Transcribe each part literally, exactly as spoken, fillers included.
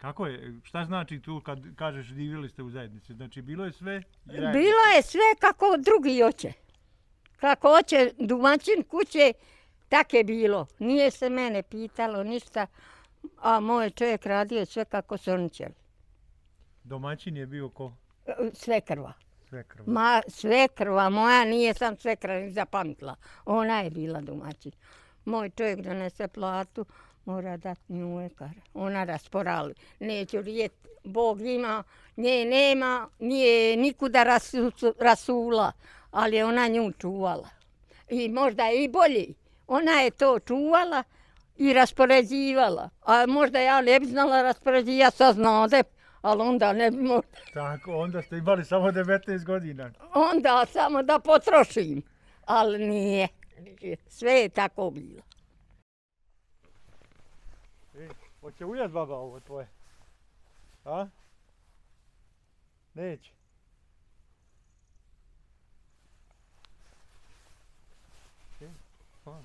Kako je? Šta znači tu kad kažeš živjeli ste u zajednici? Znači bilo je sve? Bilo je sve kako drugi hoće. Kako hoće domaćin kuće, tak je bilo. Nije se mene pitalo ništa, a moj čovjek radio sve kako su oni htjeli. Domaćin je bio ko? Svekrva. Svekrva. Ma, svekrva moja, nije sam svekrva ni zapamtila. Ona je bila domaćin. Moj čovjek donese platu, mora dati nju ekar. Ona rasporali. Neću rijet, Bog ima, nje nema, nije nikuda rasu, rasula, ali je ona nju čuvala. I možda i bolje. Ona je to čuvala i raspoređivala. A možda ja ne bi znala raspoređivati, ja saznade, ali onda ne bi možda. Tako, onda ste imali samo devetnaest godina. Onda samo da potrošim, ali nije. Sve je tako bilo. E, hoće ujat baba ovo tvoje? A? Neće. E, hvala.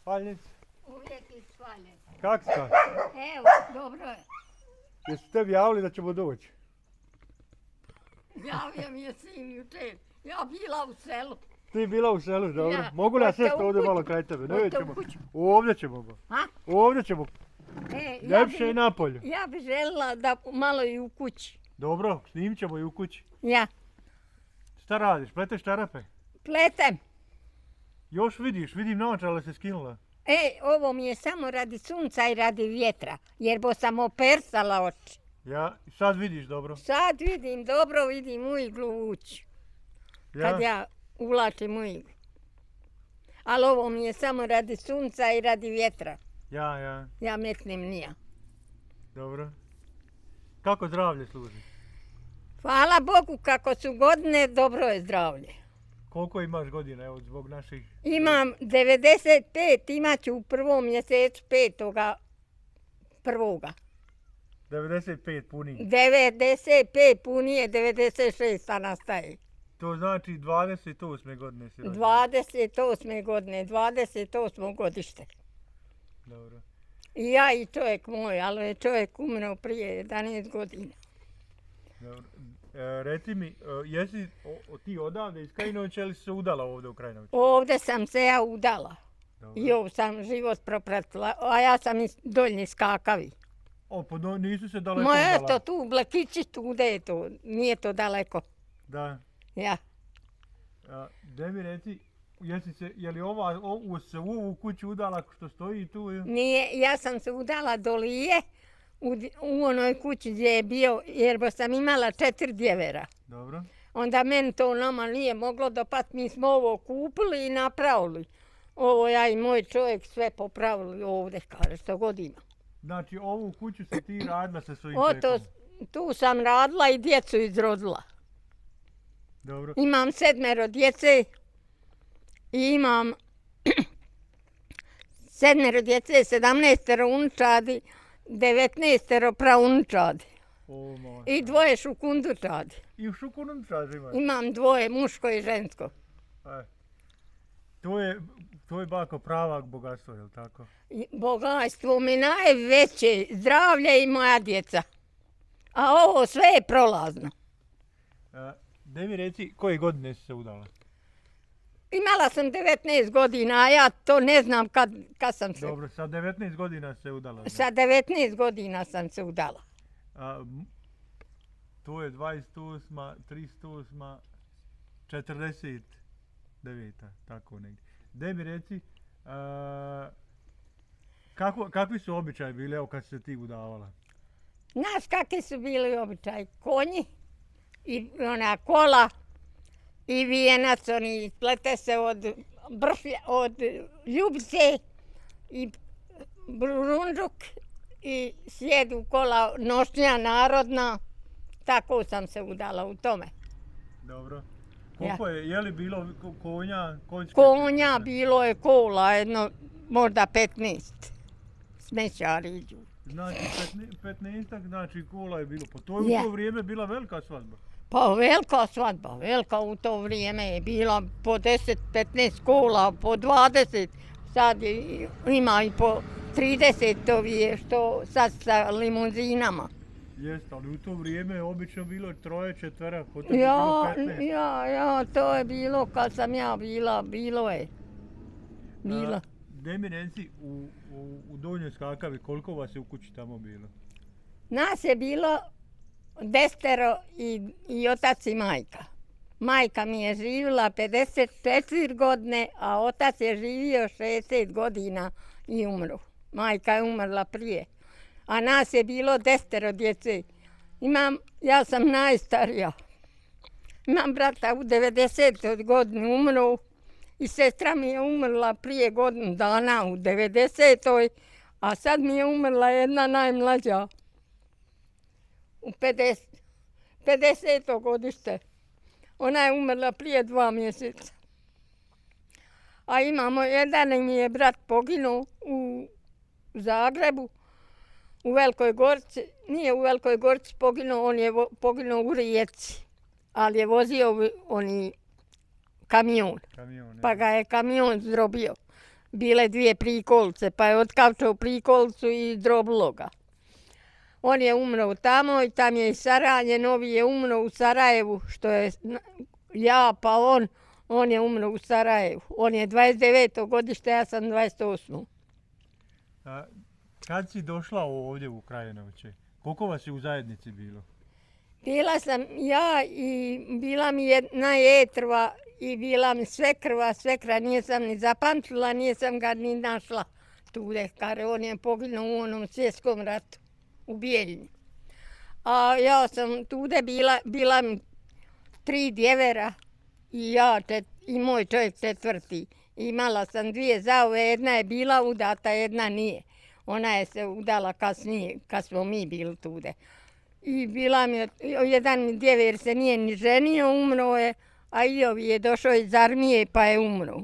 Spaljnici? Uvijek je spaljen. Kak si kak? Evo, dobro je. Jesu tebi javili da ćemo doći? Javio mi je sin jučer. Ja bila u selu. Ti bila u selu, dobro. Ja. Mogu li ja Hoćete sjesti u ovdje kuću? malo kraj tebe? Ne Hoćete u ćemo. kuću? Ovdje ćemo. Ba. Ha? Ovdje ćemo. E, ja Ljepše bi- i napolju. Ja bi željela da malo i u kući. Dobro, snimit ćemo i u kući. Ja, Šta radiš? Pleteš čarape? pletem. Još vidiš, vidim naočale se skinula. E, ovo mi je samo radi sunca i radi vjetra, jer bo sam opersala oči. Ja, sad vidiš dobro. Sad vidim dobro, vidim u iglu ući, Ja? kad ja ulačim u iglu. Ali ovo mi je samo radi sunca i radi vjetra. Ja, ja, Ja metnem nija. dobro. Kako zdravlje služi? Hvala Bogu kako su godine, dobro je zdravlje. Koliko imaš godina, evo, zbog naših... Imam devedeset pet, imat ću u prvom mjesecu petoga prvoga. devedeset pet puni. devedeset pet punije, devedeset šest nastaje. To znači dvadeset osme godine si rođen. dvadeset osme godine, dvadeset osmo godište. Dobro. I ja i čovjek moj, ali je čovjek umro prije jedanaest godina. Dobro. E, reci mi, e, jesi o, o, ti odavde iz Krajinovića ili si se udala ovdje u Krajinoviću? Ovdje sam se ja udala. Dobro. I ovdje sam život propratila, a ja sam iz Doljni Skakavi. O, pa do, nisu se daleko Ma udala. eto tu, u Blekići, tu gde je to, nije to daleko. Da. Ja. A, gdje mi reci, jesi se, je li ova, ovu, se u ovu kuću udala što stoji tu? ili? Nije, ja sam se udala do Lije, u, di- u onoj kući gdje je bio, jer bo sam imala četiri djevera. Dobro. Onda meni to nama nije moglo dopat, mi smo ovo kupili i napravili. Ovo ja i moj čovjek sve popravili ovdje, kaže, što god ima. Znači, ovu kuću si ti radila sa svojim Oto, čekom. tu sam radila i djecu izrodila. Dobro. Imam sedmero djece i imam sedmero djece, sedamnaestero unučadi, devetnaestero praunčadi O, moj. i dvoje šukundučadi. I u šukunom čažu imaš. Imam dvoje, muško i žensko. E. To je, to je bako pravak bogatstvo, je li tako? I bogatstvo mi najveće, zdravlje i moja djeca. A ovo sve je prolazno. E, gdje mi reci, koje godine si se udala? Imala sam devetnaest godina, a ja to ne znam kad, kad sam se... Dobro, sa devetnaest godina se udala. znači. Sa devetnaest godina sam se udala. A, m, to je dvadeset osma, trideset osma, četrdeset deveta, tako negdje. Gdje mi reci, a, kako, kakvi su običaji bili, evo kad si se ti udavala? Znaš kakvi su bili običaj? Konji i ona kola i vijenac, oni plete se od bršlja, od ljubice i brunđuk i sjedu kola nošnja narodna. Tako sam se udala u tome. Dobro. Koliko je, je li bilo ko- konja? Konjske? Konja bilo je kola, jedno možda petnaest. Smećari iđu. Znači, petnaestak, znači kola je bilo. Po to je Ja. u to vrijeme bila velika svadba. Pa velika svadba, velika u to vrijeme je bila po deset petnaest kola, po dvadeset, sad je, ima i po trideset je što sad sa limuzinama. Jeste, ali u to vrijeme je obično bilo troje, četvera, kod tebe ja, bilo petnaest. Ja, ja, to je bilo kad sam ja bila, bilo je. Bila. Gdje mi reci, u, u, u Donjoj Skakavi, koliko vas je u kući tamo bilo? Nas je bilo desetero i, i otac i majka. Majka mi je živjela pedeset četiri godine, a otac je živio šezdeset godina i umro. Majka je umrla prije. A nas je bilo desetero djece. Imam, ja sam najstarija. Imam brata u devedesetoj godini umro i sestra mi je umrla prije godinu dana u devedesetoj, a sad mi je umrla jedna najmlađa u pedeseto godište. Ona je umrla prije dva mjeseca. A imamo jedan mi je brat poginuo u Zagrebu, u Velikoj Gorici. Nije u Velikoj Gorici poginuo, on je poginuo u Rijeci. Ali je vozio oni kamion. kamion pa ga je kamion zdrobio. Bile dvije prikolice, pa je otkavčao prikolicu i zdrobilo ga. On je umro tamo i tam je i Saranje, novi je umro u Sarajevu, što je ja, pa on, on je umro u Sarajevu. On je dvadeset deveto godište, ja sam dvadeset osmo A, kad si došla ovdje u Krajinoviće, koliko vas je u zajednici bilo? Bila sam ja i bila mi jedna jetrva i bila mi svekrva, svekra nisam ni zapamtila, nisam ga ni našla tude, kar on je poginuo u onom svjetskom ratu. U Bijeljini. A ja sam tude bila, bila mi tri djevera i ja čet, i moj čovjek četvrti. Imala sam dvije zauve, jedna je bila udata, jedna nije. Ona je se udala kasnije, kad smo mi bili tude. I bila mi, jedan djever se nije ni ženio, umro je, a i ovi je došao iz armije pa je umro.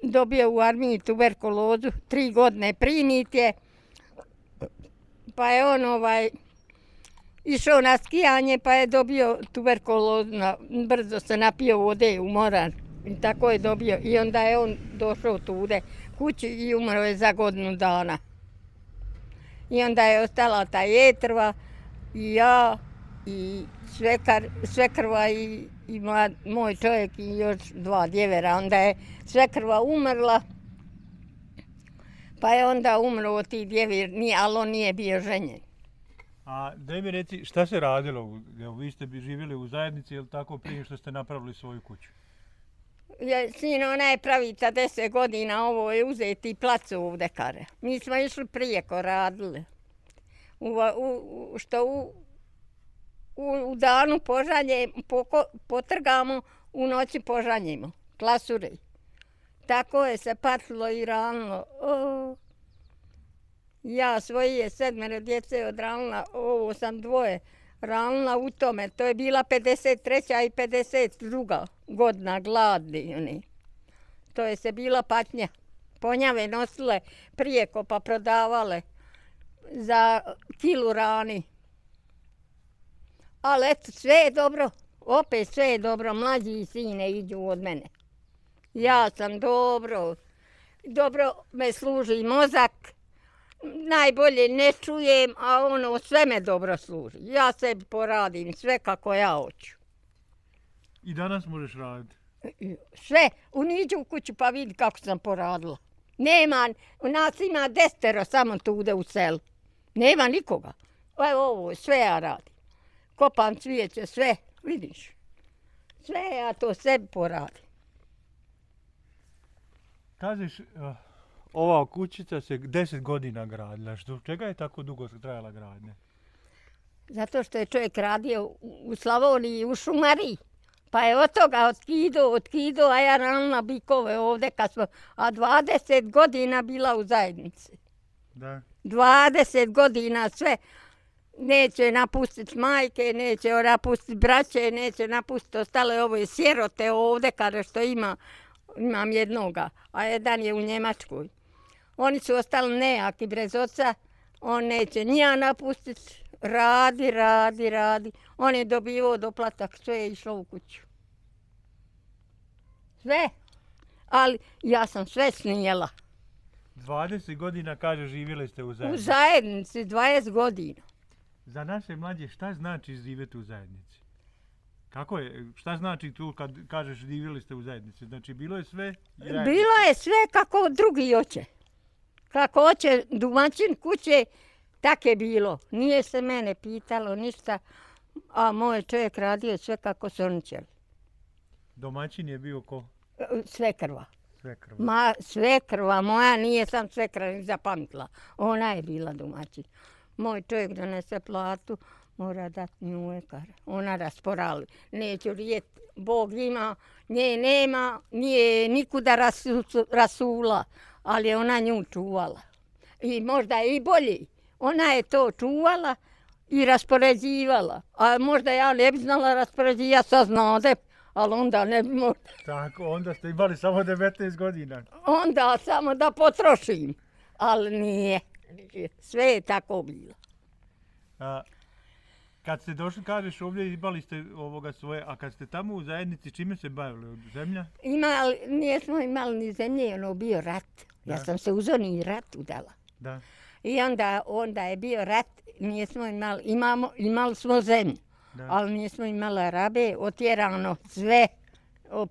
Dobio u armiji tuberkulozu, tri godine prinit je. Pa je on ovaj, išao na skijanje pa je dobio tuberkulozu, brzo se napio vode, umoran i tako je dobio. I onda je on došao tude kući i umro je za godinu dana. I onda je ostala ta jetrva i ja i svekar, svekrva i, i mlad, moj čovjek i još dva djevera. Onda je svekrva umrla. Pa je onda umro od tih djevir, ali on nije bio ženjen. A daj mi reci, šta se radilo? Evo, vi ste bi živjeli u zajednici, je li tako prije što ste napravili svoju kuću? Ja, sin, ona je pravica deset godina, ovo je uzeti plac ovdje kare. Mi smo išli prijeko radili. U, u, što u, u, u danu požanje, poko, potrgamo, u noći požanjimo, klasure. Tako je se patilo i ranilo. O, ja svoje je sedmero djece odranila, ovo sam dvoje ranila u tome. To je bila pedeset treća i pedeset druga godina gladni. Oni. To je se bila patnja. Ponjave nosile prijeko pa prodavale za kilu rani. Ali eto, sve je dobro. Opet sve je dobro. Mlađi sine iđu od mene. Ja sam dobro, dobro me služi mozak, najbolje ne čujem, a ono sve me dobro služi. Ja sebi poradim sve kako ja hoću. I danas možeš raditi? Sve, uniđu u kuću pa vidi kako sam poradila. Nema, u nas ima desetero samo tude u selu. Nema nikoga. Evo ovo, sve ja radim. Kopam cvijeće, sve, vidiš. Sve ja to sebi poradim. Kažeš, uh, ova kućica se deset godina gradila. Što, čega je tako dugo trajala gradnja? Zato što je čovjek radio u, u Slavoniji, u šumariji. Pa je od toga otkido, otkido, a ja ranila bikove ovdje kad smo, a dvadeset godina bila u zajednici. Da. dvadeset godina sve. Neće napustiti majke, neće napustiti braće, neće napustiti ostale ove sjerote ovdje kada što ima. Imam jednoga, a jedan je u Njemačkoj. Oni su ostali nejaki bez oca, on neće nija napustiti, radi, radi, radi. On je dobivao doplatak, sve je išlo u kuću. Sve, ali ja sam sve snijela. dvadeset godina, kaže, živjeli ste u zajednici. U zajednici, dvadeset godina. Za naše mlađe, šta znači živjeti u zajednici? Kako je, šta znači tu kad kažeš živjeli ste u zajednici? Znači, bilo je sve? Zajednici. Bilo je sve kako drugi hoće. Kako hoće domaćin kuće, tak je bilo. Nije se mene pitalo ništa, a moj čovjek radio sve kako su oni htjeli. Domaćin je bio ko? Svekrva. Svekrva. Ma, svekrva moja, nije sam svekra ni zapamtila. Ona je bila domaćin. Moj čovjek donese platu, mora dati nju kar. Ona rasporali. Neću rijet, Bog ima, nje nema, nije nikuda rasu, rasula, ali je ona nju čuvala. I možda i bolje. Ona je to čuvala i raspoređivala. A možda ja ne bi znala raspoređivati, ja saznade, ali onda ne bi možda. Tako, onda ste imali samo devetnaest godina. Onda samo da potrošim, ali nije. Sve je tako bilo. A, kad ste došli, kažeš, ovdje imali ste ovoga svoje, a kad ste tamo u zajednici, čime se bavili? Od zemlja? Imali, nijesmo imali ni zemlje, ono bio rat. Da. Ja sam se u zoni rat udala. Da. I onda, onda je bio rat, nismo imali, imamo, imali smo zemlju, da. Ali nismo imali rabe, otjerano sve,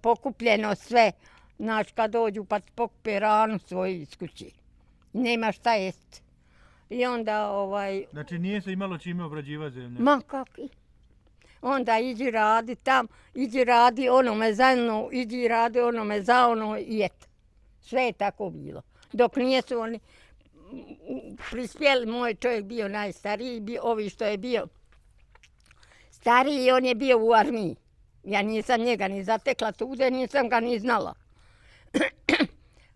pokupljeno sve. Znaš, kad dođu pa pokupe ranu svoju iz kući. Nema šta jest. I onda ovaj... Znači nije se imalo čime obrađivati zemlje? Ma kakvi. Onda iđi radi tam, iđi radi onome za ono, iđi radi onome za ono i et. Sve je tako bilo. Dok nijesu oni prispjeli, moj čovjek bio najstariji, bio, ovi što je bio stariji, on je bio u armiji. Ja nisam njega ni zatekla tude, nisam ga ni znala.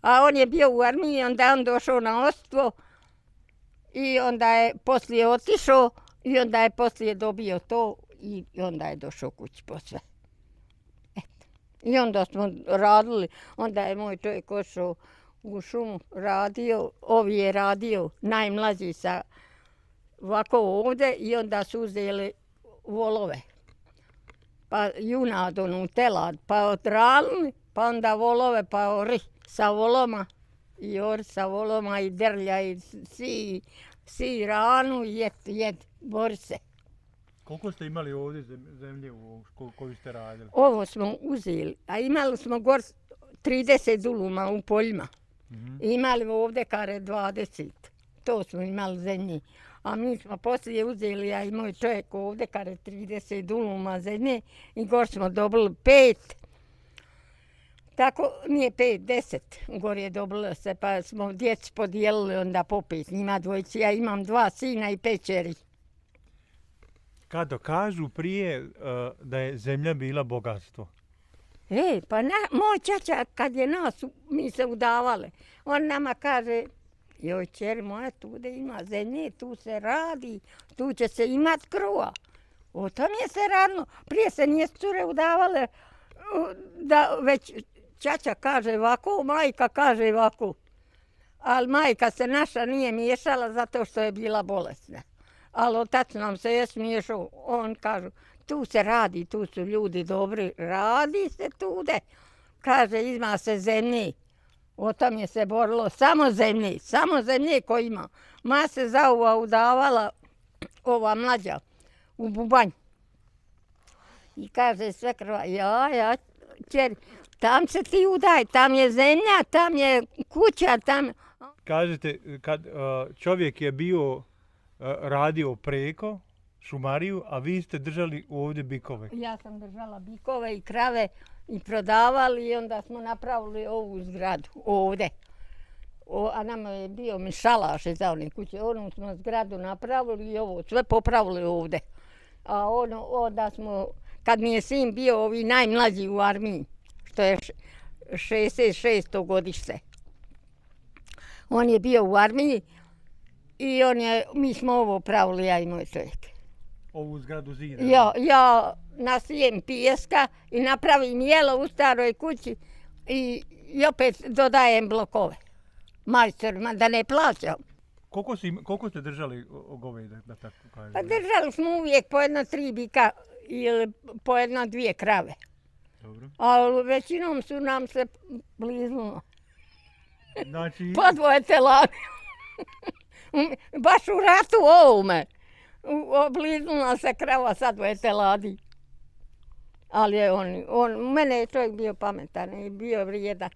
A on je bio u armiji, onda je on došao na ostvo i onda je poslije otišao i onda je poslije dobio to i onda je došao kući po sve. Eto. I onda smo radili, onda je moj čovjek ošao u šumu, radio, ovi je radio, najmlađi sa ovako ovdje i onda su uzeli volove. Pa junad, onu telad, pa odralili, pa onda volove, pa ori sa voloma. I ori sa voloma i drlja i si, si ranu i jed, jed, bori se. Koliko ste imali ovdje zemlje u koju ste radili? Ovo smo uzeli, a imali smo gor trideset duluma u poljima. Mm-hmm. Imali ovdje kare dvadeset. To smo imali zemlje. A mi smo poslije uzeli, ja i moj čovjek ovdje kare trideset duluma zemlje i gor smo dobili pet. Tako nije pet, deset. Gor je dobilo se, pa smo djeci podijelili onda po pet. Njima dvojici, ja imam dva sina i pet čeri. Kad kažu prije uh, da je zemlja bila bogatstvo? E, pa na, moj čača kad je nas, mi se udavale, on nama kaže, joj čeri moja, tu da ima zemlje, tu se radi, tu će se imat kruva. O tom je se radilo. Prije se nije cure udavale, da već čača kaže ovako, majka kaže ovako. Ali majka se naša nije miješala zato što je bila bolesna. Ali otac nam se je smiješao, on kaže, tu se radi, tu su ljudi dobri, radi se tude. Kaže, ima se zemlje. O tom je se borilo, samo zemlje, samo zemlje ko ima. Ma se zauva udavala ova mlađa u bubanj. I kaže sve krva, ja, ja, čeri, tam se ti udaj, tam je zemlja, tam je kuća, tam... Kažete, kad uh, čovjek je bio, uh, radio preko, šumariju, a vi ste držali ovdje bikove. Ja sam držala bikove i krave i prodavali i onda smo napravili ovu zgradu ovdje. O, a nama je bio mi šalaš za one kuće. Onu smo zgradu napravili i ovo sve popravili ovdje. A ono, onda smo, kad mi je sin bio ovi najmlađi u armiji, što je šezdeset šesto godište. On je bio u armiji i on je, mi smo ovo pravili, ja i moj čovjek. Ovu zgradu zida? Ja, ja nasijem pijeska i napravim jelo u staroj kući i, i opet dodajem blokove majstorima da ne plaćam. Koliko, si, koliko ste držali goveda, da tako kažem? Pa držali smo uvijek po jedno tri bika ili po jedno dvije krave. Dobro. Ali većinom su nam se bliznulo. Znači... Po dvoje teladi. Baš u ratu ovome. Obliznula se krava sa dvoje teladi. Ali je on, on, mene je čovjek bio pametan i bio vrijedan.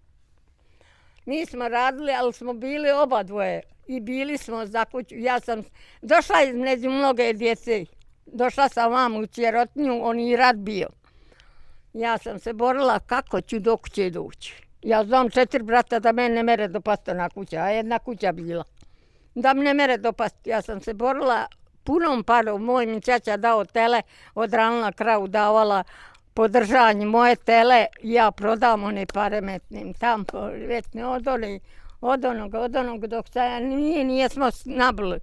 Mi smo radili, ali smo bili oba dvoje. I bili smo za kuću. Ja sam došla između mnoge djece. Došla sam vam u Čerotnju, on i rat bio. Ja sam se borila kako ću do kuće doći. Ja znam četiri brata da mene ne mere dopasti na kuća, a jedna kuća bila. Da me ne mere dopasti. Ja sam se borila punom parom. Moj mi čača dao tele, odranila kravu, davala podržanje moje tele. Ja prodam one pare metnim tam, vetne od one, od onog, od onog dok se nije, nije smo nabili.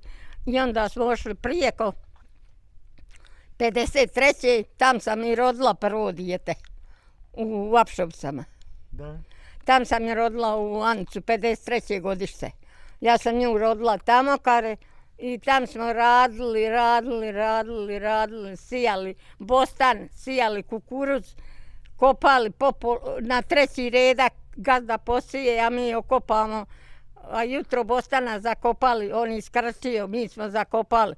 I onda smo ošli prijeko. pedeset treće tam sam i rodila prvo dijete u Apšovcama. Da. Tam sam je rodila u Ancu, pedeset treće godište. Ja sam nju rodila tamo kare i tam smo radili, radili, radili, radili, sijali bostan, sijali kukuruz, kopali popol, na treći redak gazda posije, a mi okopamo, a jutro bostana zakopali, on iskrčio, mi smo zakopali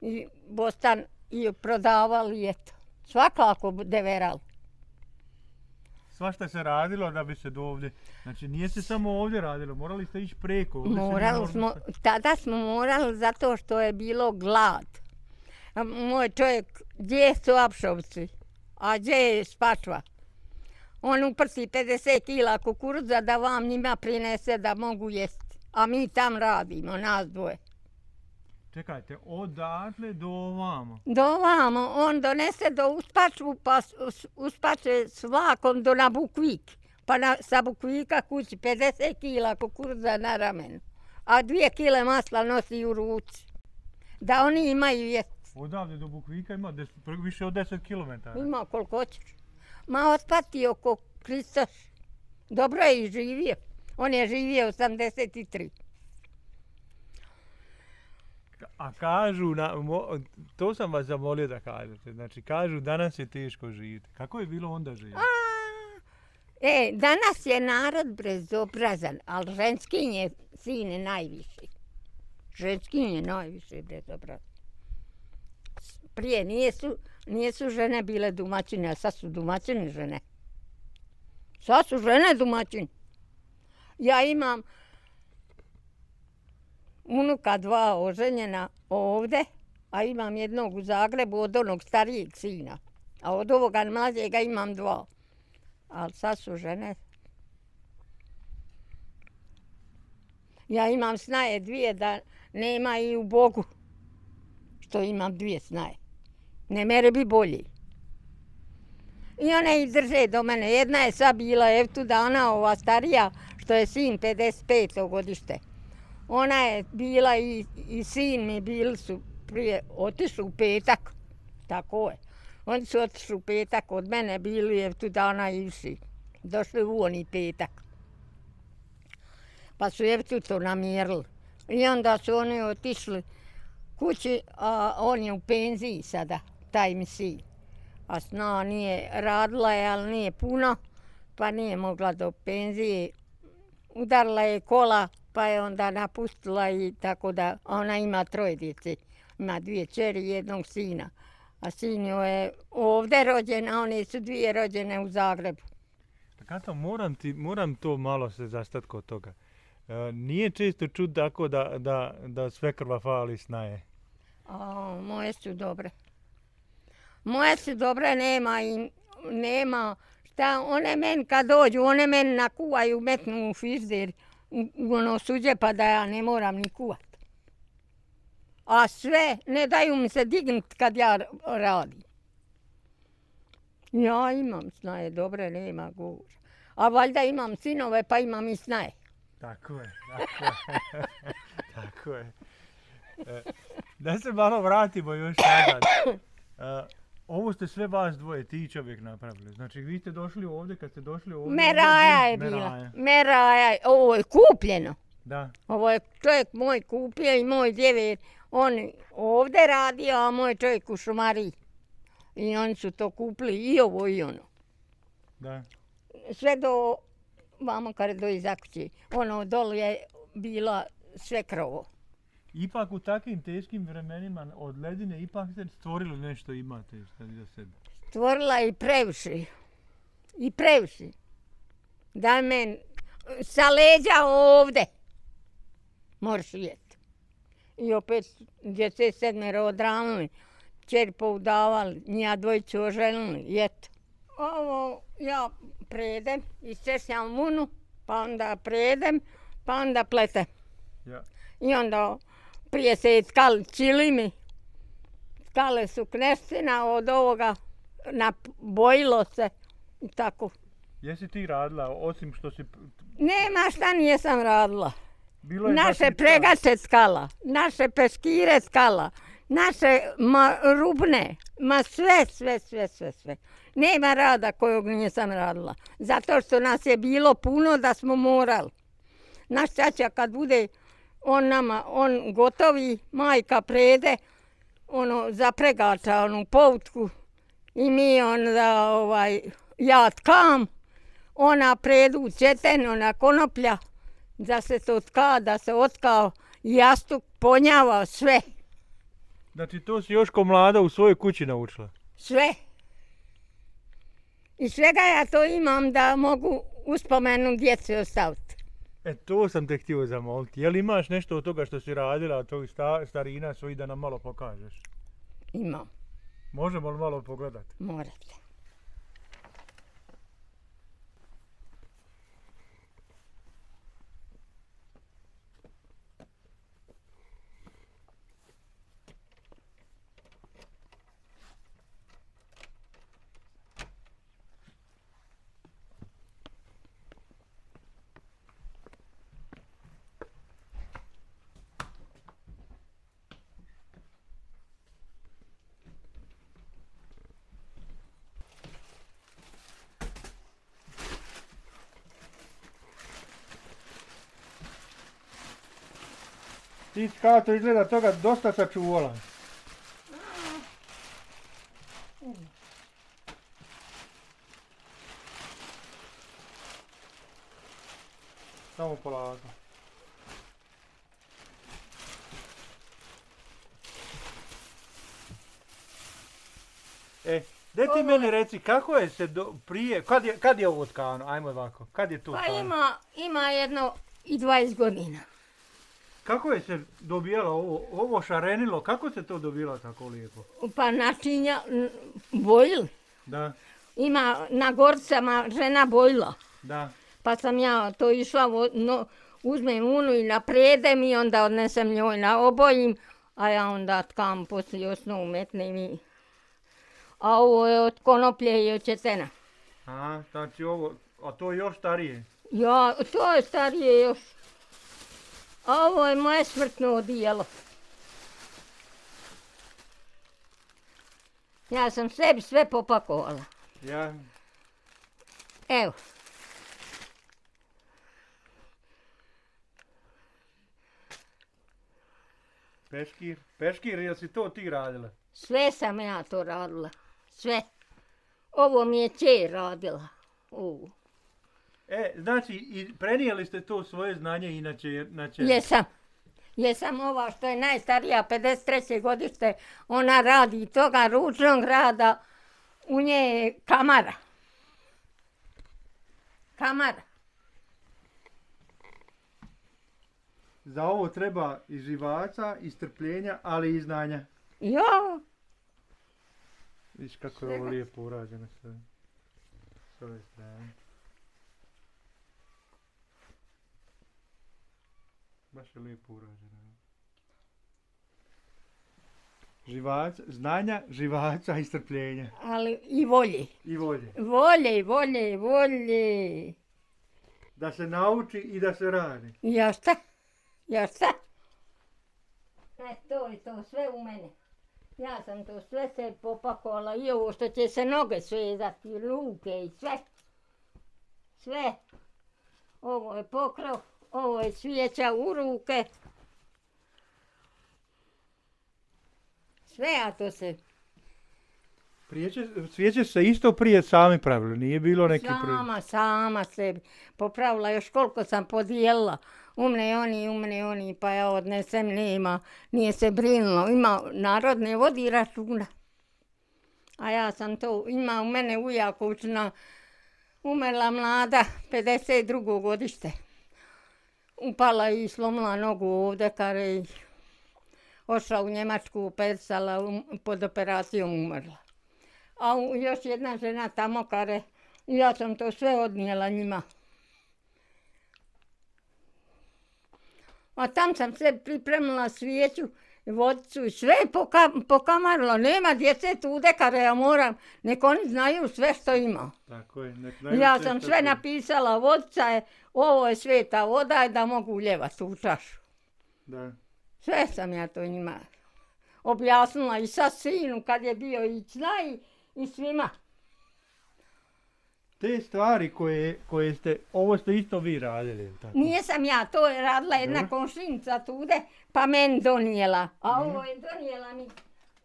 i bostan i prodavali, eto. Svakako deverali. Svašta se radilo da bi se do ovdje, znači nije se samo ovdje radilo, morali ste ići preko. Ovdje morali smo, tada smo morali zato što je bilo glad. A moj čovjek, gdje su Apšovci, a gdje je Spačva? On uprsi pedeset kila kukuruza da vam njima prinese da mogu jesti, a mi tam radimo, nas dvoje. Čekajte, odatle do ovamo? Do ovamo, on donese do Uspačvu, pa Uspače s vlakom do na Bukvik. Pa na, sa Bukvika kući pedeset kila kukuruza na ramenu, a dvije kile masla nosi u ruci. Da oni imaju jesti. Odavde do Bukvika ima des, više od deset kilometara. Ima koliko hoćeš. Ma otpati oko Kristoš. Dobro je i živio. On je živio osamdeset tri. A kažu, na, mo, to sam vas zamolio da kažete, znači kažu danas je teško živjeti. Kako je bilo onda živjeti? E, danas je narod bezobrazan, ali ženskin je sine najviši. Ženskin je najviše bezobrazan. Prije nijesu, nijesu žene bile domaćine, a sad su domaćine žene. Sad su žene domaćine. Ja imam unuka dva oženjena ovde, a imam jednog u Zagrebu od onog starijeg sina. A od ovoga mlađega imam dva. Ali sad su žene. Ja imam snaje dvije da nema i u Bogu. Što imam dvije snaje. Ne mere bi bolji. I one i drže do mene. Jedna je sad bila, ev tu da ona ova starija, što je sin pedeset peto godište. Ona je bila i, i sin mi bili su prije otišli u petak. Tako je. Oni su otišli u petak od mene, bili je tu dana i vsi. Došli u oni petak. Pa su je tu to namjerili. I onda su oni otišli kući, a on je u penziji sada, taj mi sin. A sna nije radila je, ali nije puno, pa nije mogla do penzije. Udarila je kola, pa je onda napustila i tako da ona ima troje djece. Ima dvije čeri i jednog sina. A sin je ovdje rođen, a one su dvije rođene u Zagrebu. Kato, moram, ti, moram to malo se zastati kod toga. E, nije često čut tako da, da, da sve krva fali snaje. O, moje su dobre. Moje su dobre, nema i nema. Šta, one meni kad dođu, one meni nakuvaju, metnu u fizder, u, u ono suđe, pa da ja ne moram ni kuvat. A sve, ne daju mi se dignut kad ja radim. Ja imam snaje, dobre, nema govora. A valjda imam sinove, pa imam i snaje. Tako je, tako je. Tako je. E, da se malo vratimo još nazad. E, ovo ste sve vas dvoje, ti čovjek napravili. Znači vi ste došli ovdje, kad ste došli ovdje... Meraja je bila. Meraja, ovo je kupljeno. Da. Ovo je čovjek moj kupio i moj djever. On ovdje radio, a moj čovjek u šumariji. I oni su to kupili i ovo i ono. Da. Sve do vamo kare do iza kuće. Ono dole je bila sve krovo. Ipak u takvim teškim vremenima od ledine ipak ste stvorili nešto imate za sebe. Stvorila i previše. I previše. Da men sa leđa ovde moraš jeti. I opet djece sedmero odranili, čer poudavali, njega dvojicu oženili, jeti. Ovo ja predem, isčešljam vunu, pa onda predem, pa onda pletem. Ja. I onda prije se je tkali čilimi, tkale su kneština od ovoga, nabojilo se i tako. Jesi ti radila, osim što si... Nema šta nijesam radila. Bilo je naše pregače tkala, naše peškire tkala, naše ma, rubne, ma sve, sve, sve, sve, sve. Nema rada kojeg nisam radila, zato što nas je bilo puno da smo morali. Naš čača kad bude on nama, on gotovi, majka prede, ono, za pregača, onu poutku, i mi onda, ovaj, ja tkam, ona predu četen, ona konoplja, da se to tka, da se otkao jastuk, ponjava, sve. Znači to si još ko mlada u svojoj kući naučila? Sve. I svega ja to imam da mogu uspomenu djeci ostaviti. E, to sam te htio zamoliti. Je li imaš nešto od toga što si radila, od tog sta, starina svojih da nam malo pokažeš? Imam. Možemo li malo pogledati? Morate. Ti kao to izgleda toga dosta sačuvala. Samo polako. E, gdje ti meni reci, kako je se do, prije, kad je, kad je ovo tkano, ajmo ovako, kad je to Pa tkano? ima, ima jedno i dvadeset godina. Kako je se dobijalo ovo, ovo šarenilo, kako se to dobilo tako lijepo? Pa načinja, bojili. Da, Ima na gorcama žena bojila. da. Pa sam ja to išla, no, uzmem unu i napredem i onda odnesem njoj na obojim, a ja onda tkam poslije osnovu metnem i... A ovo je od konoplje i od četena. Aha, znači ovo, a to je još starije. Ja, to je starije još. A ovo je moje smrtno odijelo. Ja sam sebi sve popakovala. Ja, Evo. peškir, peškir, jel si to ti radila? Sve sam ja to radila. Sve. Ovo mi je čer radila. Ovo. E, znači, i prenijeli ste to svoje znanje inače, inače... Jesam. Jesam ova što je najstarija, pedeset treće godište, ona radi toga ručnog rada, u nje je kamara. Kamara. Za ovo treba i živaca, i strpljenja, ali i znanja. Jo, Viš kako je ovo lijepo urađeno sve. S ove strane. Baš je lijepo urađeno. Živac, znanja, živaca i strpljenja. ali i volje. I volje. Volje, volje, volje. Da se nauči i da se radi. Ja šta? Ja šta? E, to je to sve u mene. Ja sam to sve se popakovala i ovo što će se noge svezati, ruke i sve. Sve. Ovo je pokrov, ovo je svijeća u ruke. Sve, a to se... Prijeće, svijeće se isto prije sami pravili, nije bilo neki... Sama, sama sebi. Popravila još koliko sam podijelila. Umne oni, umne oni, pa ja odnesem, nema, nije se brinulo. Ima narod ne vodi računa. A ja sam to, ima u mene u Jakovčina, umrla mlada, pedeset drugo godište. Upala i slomila nogu ovdje, kare i ošla u Njemačku, persala, um, pod operacijom umrla. A u, još jedna žena tamo, kare, ja sam to sve odnijela njima. A tam sam sve pripremila svijeću, vodicu i sve poka, pokamarila. Nema djece tude, kare ja moram, nek oni znaju sve što ima. Tako je, nek znaju ja sve sam što sve je. napisala, vodica je, ovo je sveta voda i da mogu uljevati u čašu. Da. Sve sam ja to njima objasnila i sa sinu kad je bio i zna i, i svima. Te stvari koje, koje ste, ovo ste isto vi radili, tako? Nisam ja, to je radila jedna komšinica tude, pa meni donijela. A mm. ovo je donijela mi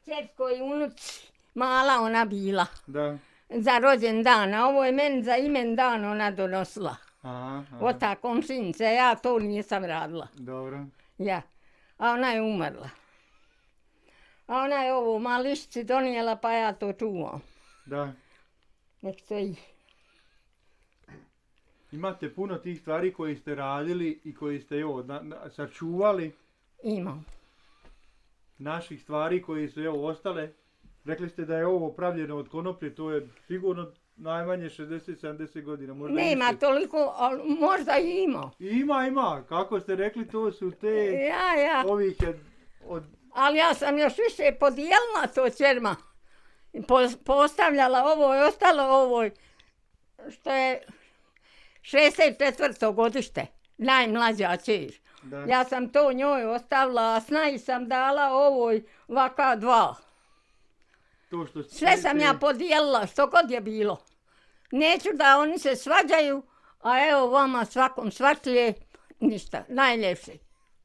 čerko i unuci, mala ona bila. Da. Za rođen dan, a ovo je meni za imen dan ona donosila. Aha, aha. Od ta komšinica, ja to nisam radila. Dobro. Ja, a ona je umrla. A ona je ovo mališci donijela, pa ja to čuvam. Da. Nek stoji. Imate puno tih stvari koji ste radili i koji ste evo, na, na, sačuvali. Imam. Naših stvari koji su evo ostale. Rekli ste da je ovo pravljeno od konoplje, to je sigurno najmanje šezdeset sedamdeset godina. Možda nema više. toliko, ali možda i ima. Ima, ima. Kako ste rekli, to su te ja, ja. ovih od, od... Ali ja sam još više podijelila to čerma. Po, postavljala ovo i ostalo ovo što je šezdeset četvrto godište, najmlađa čer. Da. Ja sam to njoj ostavila, a snaji sam dala ovoj vaka dva. To što ste... Sve sam ja podijelila, što god je bilo. Neću da oni se svađaju, a evo vama svakom svačije, ništa, najljepše.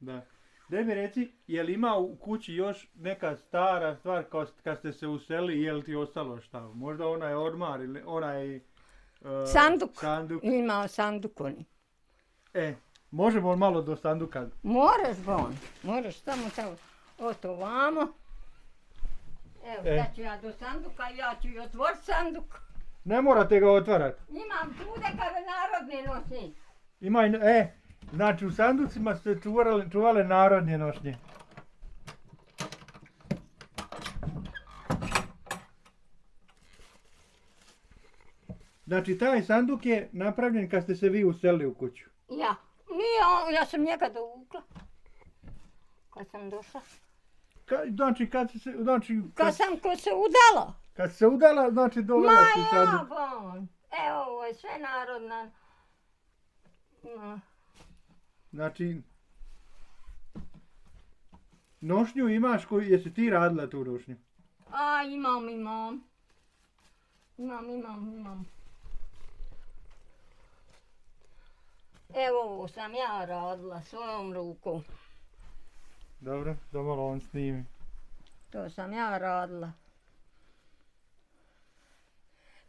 Da. Daj mi reci, je li ima u kući još neka stara stvar kad ste se uselili, je li ti ostalo šta? Možda onaj ormar ili onaj... Uh, sanduk. sanduk. Imao sanduk oni. E, možemo malo do sanduka? Moraš, Bon, moraš samo tamo. Oto vamo. Evo, e. sad ću ja do sanduka, ja ću i otvoriti sanduk. Ne morate ga otvarati. Imam tude kada narodne nošnje. Ima i, e, znači u sanducima ste čuvali, čuvale narodne nošnje. Znači, taj sanduk je napravljen kad ste se vi uselili u kuću. Ja. Nije on, ja sam njega dovukla. Kad sam došla. Ka, znači, kad se... Znači, kad, kad sam ko se udala. Kad se udala, znači dovela se sanduk. Ma ja, bon. Evo, ovo je sve narodna. No. Znači, nošnju imaš koju, jesi ti radila tu nošnju? A, imam, imam. Imam, imam, imam. Evo, ovo sam ja radila svojom rukom. Dobro, da malo on snimi. To sam ja radila.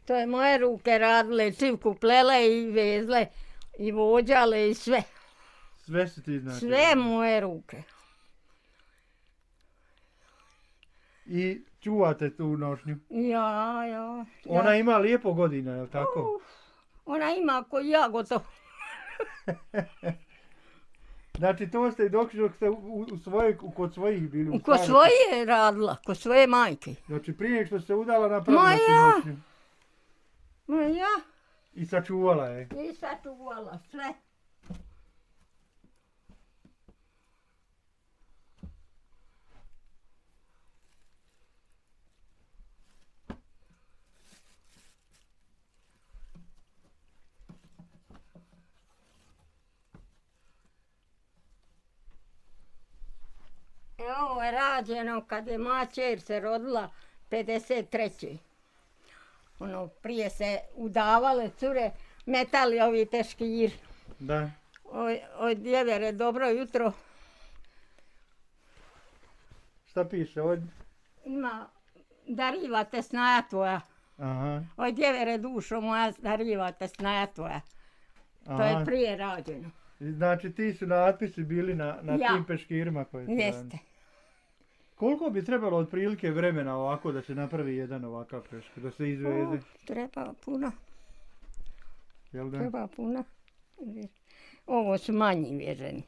To je moje ruke radile, čivku plele i vezle i vođale i sve. Sve su ti znači? Sve moje ruke. I čuvate tu nošnju? Ja, ja. Ona ja. ima lijepo godina, je li tako? Uf, ona ima ko ja gotovo. Znači to ste dok, dok ste u, u svoje, kod svojih bili? Kod svoje radila, kod svoje majke. Znači prije što se udala napravila Ma si ja. nošnju? Ma ja. I sačuvala je? I sačuvala sve. Ovo je rađeno kad je moja čer se rodila pedeset treće. Ono, prije se udavale cure, metali ovi peškir. Da. Oj, oj djevere, dobro jutro. Šta piše ovdje? Ima darivate snaja tvoja. Aha. Oj, djevere dušo moja, darivate snaja tvoja. Aha. To je prije rađeno. Znači ti su natpisi bili na, na Ja. tim peškirima koji su Jeste. radili. Koliko bi trebalo otprilike vremena ovako da se napravi jedan ovakav peškir, da se izveze? O, treba puno, Jel da? treba puno. Ovo su manji vježeni.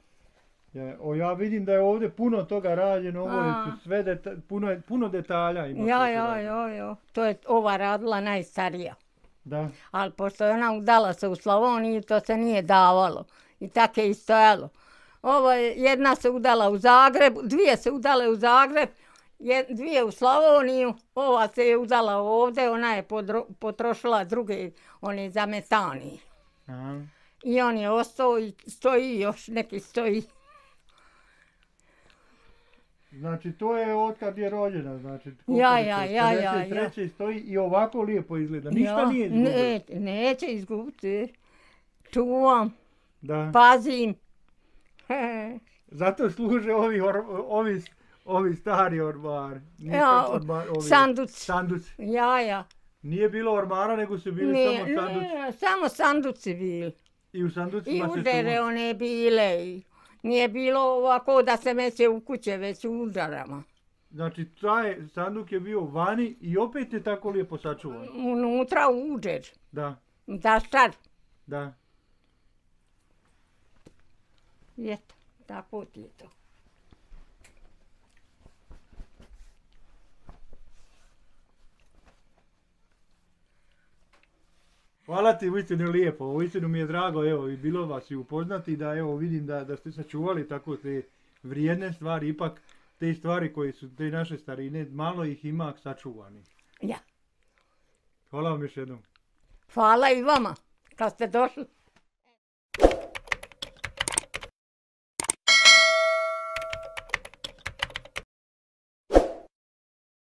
Ja, o, ja vidim da je ovdje puno toga rađeno, ovo A. su sve deta, puno, je- puno detalja ima. Ja, koji se ja, rade. ja, ja. To je ova radila najstarija. Da, Ali pošto je ona udala se u Slavoniji, to se nije davalo. I tako je i stojalo. Ovo je, jedna se udala u Zagreb, dvije se udale u Zagreb, jed, dvije u Slavoniju, ova se je udala ovdje, ona je podro, potrošila druge, one za metani. aha. I on je ostao i stoji, još neki stoji. Znači to je otkad je rođena, znači koliko Ja, je to, ja, ja, ja, pedeset treće stoji i ovako lijepo izgleda, ništa Ja, nije izgubilo. Ne, neće izgubiti. Čuvam, Da. pazim. Zato služe ovi, or, ovi, ovi stari ormari. Nikad Ja, ormar- ovi- sanduci. Sanduci. Ja, ja. Nije bilo ormara, nego su bili Ne, samo sanduci. ne, samo sanduci bili. I u I sanducima se udere su... one bile. I nije bilo ovako da se meće u kuće, već u udarama. Znači, taj sanduk je bio vani i opet je tako lijepo sačuvan. Unutra uđer. Da, Da šta? da. Eto, tako ti je to. Hvala ti, uistinu lijepo, uistinu mi je drago, evo, i bilo vas i upoznati da, evo, vidim da, da ste sačuvali tako te vrijedne stvari, ipak te stvari koje su te naše starine, malo ih ima sačuvanih. Ja. Hvala vam još jednom. Hvala i vama, kad ste došli.